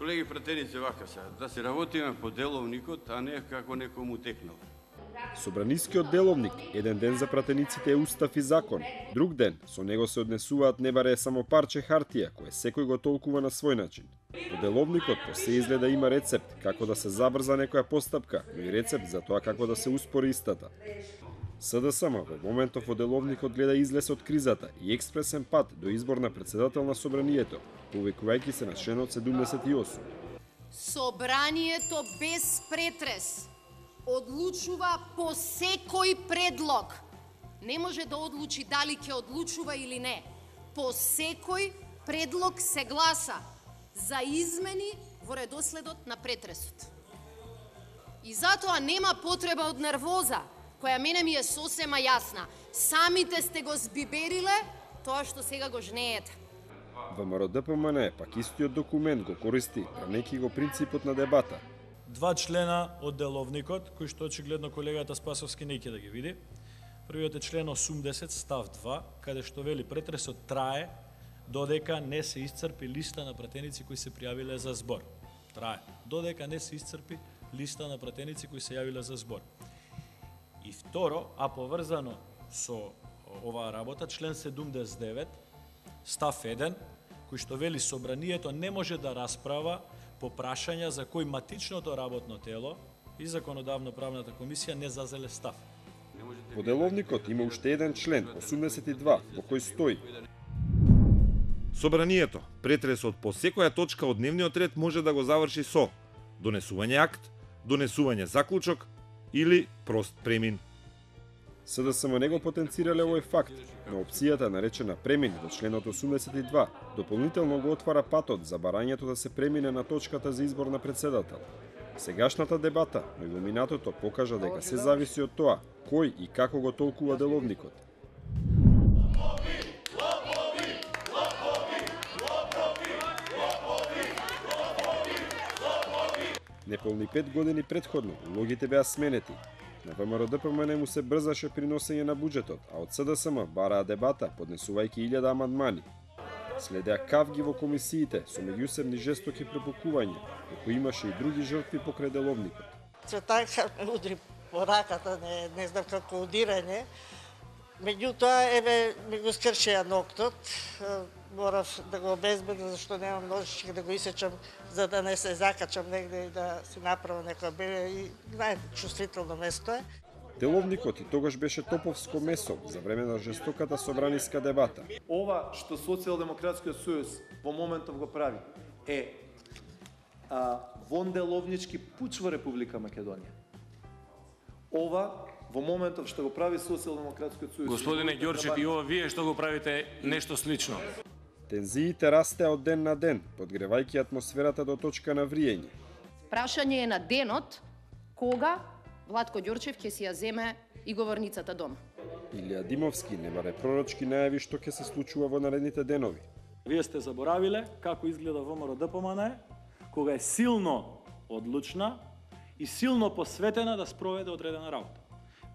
Колеги пратеници, вака се, да се работиме по деловникот, а не како некому текнал. Собранискиот деловник, еден ден за пратениците е устав и закон, друг ден со него се однесуваат не баре само парче хартија, кое секој го толкува на свој начин. По деловникот по се изгледа има рецепт како да се забрза некоја постапка, но и рецепт за тоа како да се успори истата. СДСМ во моментов во деловникот гледа излез од кризата и експресен пат до избор на председател на Собранието, повикувајќи се на членот 78. Собранието без претрес одлучува по секој предлог. Не може да одлучи дали ќе одлучува или не. По секој предлог се гласа за измени во редоследот на претресот. И затоа нема потреба од нервоза, која мене ми е сосема јасна. Самите сте го збибериле тоа што сега го жнеете. ВМРО-ДПМН пак истиот документ го користи, бранејќи го принципот на дебата. Два члена од деловникот, кои што очигледно колегата Спасовски не ќе да ги види. Првиот е член 80 став 2, каде што вели претресот трае додека не се исцрпи листа на пратеници кои се пријавиле за збор. Трае додека не се исцрпи листа на пратеници кои се јавиле за збор. И второ, а поврзано со оваа работа, член 79 став 1, кој што вели собранието не може да расправа по прашања за кои матичното работно тело и законодавно-правната комисија не зазеле став. Во деловникот има уште еден член, 82, во кој стои: Собранието, претресот по секоја точка од дневниот ред може да го заврши со донесување акт, донесување заклучок или прост премин. СДСМ не го потенцирале овој факт, но опцијата наречена премин во членот 82 дополнително го отвара патот за барањето да се премине на точката за избор на председател. Сегашната дебата, но и во минатото покажа дека се зависи од тоа кој и како го толкува деловникот. Неполни 5 години предходно улогите беа сменети. На ВМРО-ДПМН му се брзаше при носење на буџетот, а од СДСМ бараа дебата, поднесувајќи 1000 амандмани. Следеа кавги во комисиите со меѓусебни жестоки препукувања, како имаше и други жртви покрај деловникот. Цветанка ме удри по раката, не знам како удирање. Меѓутоа, еве, ми го скршеа ноктот. Морав да го обезбедам, зашто немам ножички да го исечам, за да не се закачам негде и да си направам некоја беле. И најчувствително место е. Деловникот и тогаш беше топовско месо за време на жестоката собраниска дебата. Ова што Социјалдемократскиот сојуз во моментов го прави е вонделовнички пуч во Република Македонија. Ова во моментов што го прави Социјалдемократскиот сојуз. Господине Ѓорчев, и ова вие што го правите нешто слично. Тензиите растеа од ден на ден, подгревајќи атмосферата до точка на вриење. Прашање е на денот кога Владко Ѓорчев ќе си ја земе и говорницата дома. Илија Димовски не баре пророчки најави што ќе се случува во наредните денови. Вие сте заборавиле како изгледа ВМРО-ДПМН, кога е силно одлучна и силно посветена да спроведе одредена работа.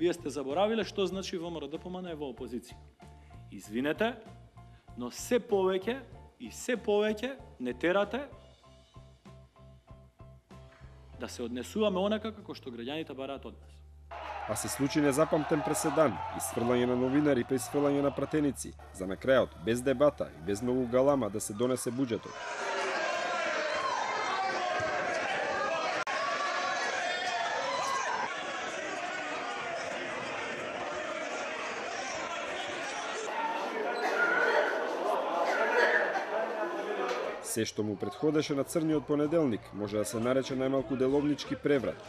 Вие сте заборавиле што значи ВМРО-ДПМН е во опозиција. Извинете, но се повеќе и се повеќе не терате да се однесуваме онака како што граѓаните бараат од нас. А се случи незапамтен преседан, исфрлање на новинари па исфрлање на пратеници, за на крајот, без дебата и без многу галама да се донесе буџетот. Се што му претходеше на црниот понеделник може да се нарече најмалку деловнички преврат.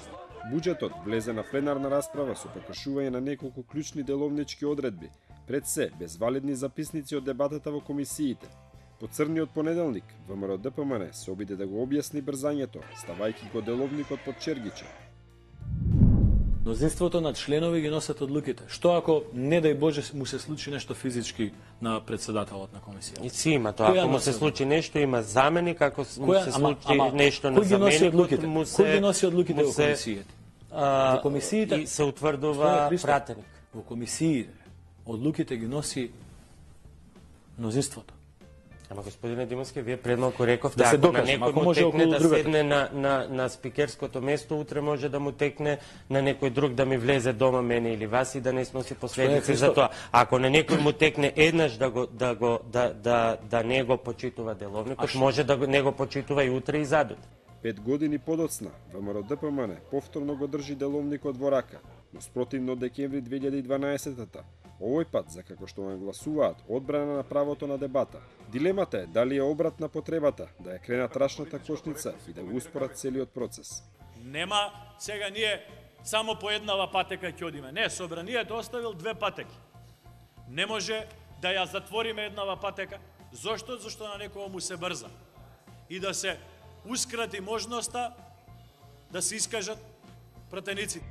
Буџетот влезе на пленарна расправа со прекршување на неколку клучни деловнички одредби, пред се без валидни записници од дебатата во комисиите. По црниот понеделник, ВМРО-ДПМН се обиде да го објасни брзањето, ставајќи го деловникот под чергиче. Мнозинството на членови ги носат одлуките. Што ако, не дај Боже, му се случи нешто физички на председателот на комисија? И си има тоа. Ако му се случи нешто, има заменик, ако му се случи нешто на заменикот, му се... Кој ги носи одлуките во комисиите? Во комисиите... И се утврдува пратеник. Во комисиите одлуките ги носи мнозинството. Ама господине Димовски, вие пред малку рековте, да се ако докажем, на некој му текне да седне на спикерското место, утре може да му текне на некој друг да ми влезе дома мене или вас и да не сноси последици за тоа. Ако на некој му текне еднаш да не го почитува деловникот, може да не го почитува и утре и задут. 5 години подоцна, ВМРО-ДПМН повторно го држи деловникот во рака, но спротивно декември 2012-та, овој пат, за како што нагласуваат, одбрана на правото на дебата. Дилемата е дали е обрат на потребата да ја кренат рачната кошница и да го успорат целиот процес. Нема сега ние само по еднава патека ќе одиме. Не, собранието оставил 2 патеки. Не може да ја затвориме еднава патека. Зошто? Зашто на некој му се брза. И да се ускрати можноста да се искажат пратеници.